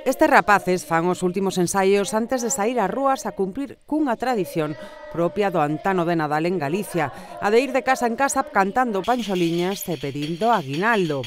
Estes rapaces fan os últimos ensaios antes de sair ás rúas a cumprir cunha tradición propia do antano de Nadal en Galicia, a de ir de casa en casa cantando panxoliñas e pedindo aguinaldo.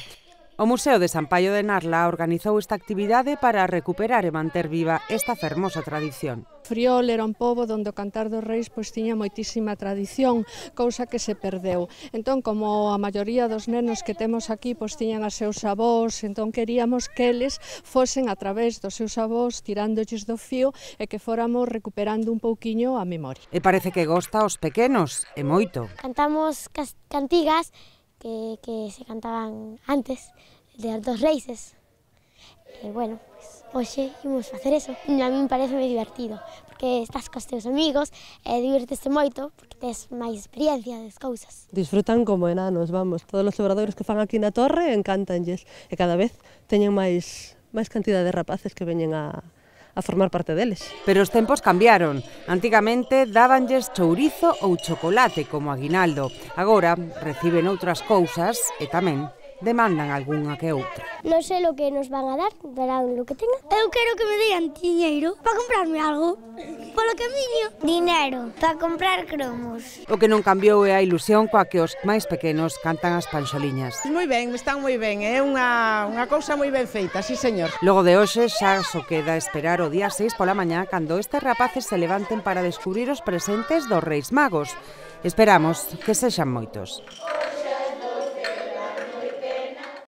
O Museo de San Paio de Narla organizou esta actividade para recuperar e manter viva esta fermosa tradición. Friol era un pobo onde o cantar dos reis tiña moitísima tradición, cousa que se perdeu. Entón, como a maioría dos nenos que temos aquí tiñan a seus avós, entón queríamos que eles fosen a través dos seus avós tirándolles do fío e que fóramos recuperando un pouquiño a memoria. E parece que gosta aos pequenos, e moito. Cantamos cantigas que se cantaban antes dos reis. Bueno, pues hoxe imos facer eso. A mí me parece moi divertido, porque estás cos teus amigos e divertiste moito, porque tes máis experiencia das cousas. Disfrutan como enanos, vamos. Todos os obradoiros que fan aquí na torre encántanlles e cada vez teñen máis cantidad de rapaces que veñen a formar parte deles. Pero os tempos cambiaron. Antigamente dábanlles chourizo ou chocolate como aguinaldo. Agora reciben outras cousas e tamén demandan algunha que outra. Non sei o que nos van a dar, darán o que tengan. Eu quero que me dean diñeiro para comprarme algo. Polo camiño. Dinero para comprar cromos. O que non cambiou é a ilusión coa que os máis pequenos cantan as panxoliñas. Moi ben, están moi ben, é unha cousa moi ben feita, sí señor. Logo de hoxe xa só queda esperar o día 6 pola mañá cando estes rapaces se levanten para descubrir os presentes dos Reis Magos. Esperamos que sexan moitos.